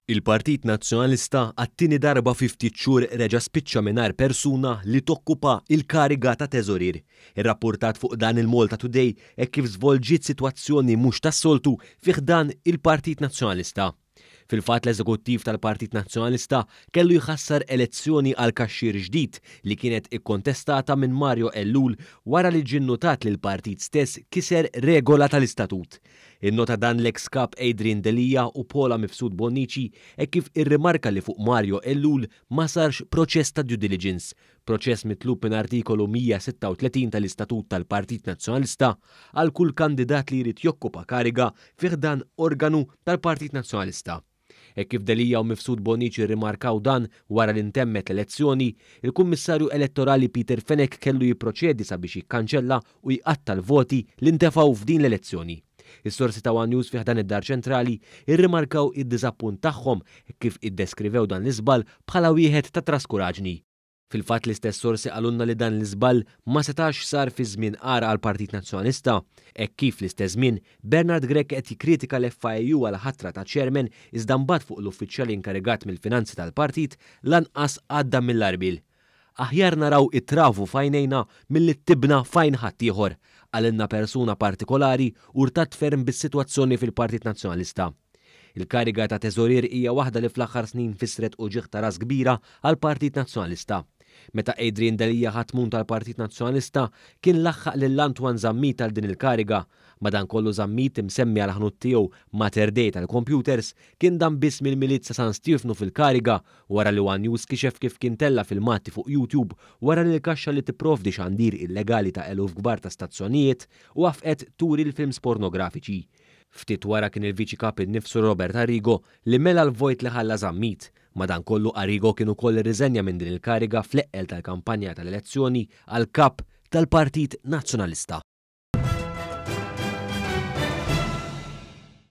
Il-Partit Nazzjonalista għat-tieni darba fi ftit xhur reġa' spiċċa mingħajr persuna li tokkupa il-kariga ta' teżorier. Irrappurtat fuq dan il-Malta Today hekk kif żvolġiet sitwazzjoni mhux tas-soltu fi ħdan il-Partit Nazzjonalista. Fil-fatt, l-eżekuttiv tal-Partit Nazzjonalista kellu jħassar elezzjoni għal kaxxier ġdid li kienet ikkontestata minn Mario Ellul wara li ġie nnotat li l-partit stess kiser regola tal-istatut. Innota dan l-ex kap Adrian Delia u Paula Mifsud Bonnici e kif irrimarka li fuq Mario Ellul ma sarx proċess ta' due diligence, proċess mitlub minn artikolu 136 tal-Istatut tal-Partit Nazzjonalista għal kull kandidat li jrid jokkupa kariga fi ħdan organu tal-Partit Nazzjonalista. E kif Delia u Mifsud Bonnici rrimarkaw dan wara li ntemmet l-elezzjoni, il-Kummissarju Elettorali Peter Fenech kellu jipproċedi sabiex jikkanċella u jqatta l-voti li ntefgħu f'din l-elezzjoni. Is-sorsi ta' One News fi ħdan id-Dar Ċentrali irrimarkaw id-diżappunt tagħhom kif iddeskrivew dan l-iżball bħala wieħed ta' traskuraġni. Fil-fatt, l-istess sorsi qalulna li dan l-iżball ma setax sar fi żmien għar għall-Partit Nazzjonalista. Hekk kif l-istess żmien Bernard Grech qed jikkritika l-FIAU għal ħatra ta' chairman, iżda mbagħad fuq l-uffiċjali inkarigat mill-finanzi tal-partit lanqas għadda mill-għarbiel. "Aħjar naraw it-travu f'għajnejna milli tibna f'għajn ħaddieħor," qalilna persuna partikolari urtat ferm bis-sitwazzjoni fil-Partit Nazzjonalista. Il-kariga ta' teżorier hija waħda li fl-aħħar snin fisret uġigħ ta' ras kbira għall-Partit Nazzjonalista. Meta Adrian Delia ħa t-tmun tal-Partit Nazzjonalista, kien laħħaq lil Antoine Zammit għal din il-kariga. Madankollu Zammit, imsemmi għal ħanut tiegħu Mater Dei tal-computers, kien dam biss mill-Milied sa San Stiefnu fil-kariga wara li One News kixef kif kien tella filmati fuq YouTube wara li l-kaxxa li tipprovdi xandir illegali ta' eluf kbar ta' stazzjonijiet wafqet turi l-films pornografiċi. Ftit wara kien il-Viċi Kap innifsu Robert Arrigo li mela l-vojt li ħalla Zammit. Madankollu Arrigo kien ukoll irriżenja minn din il-kariga fl-eqqel tal-kampanja tal-elezzjoni għal kap tal-Partit Nazzjonalista.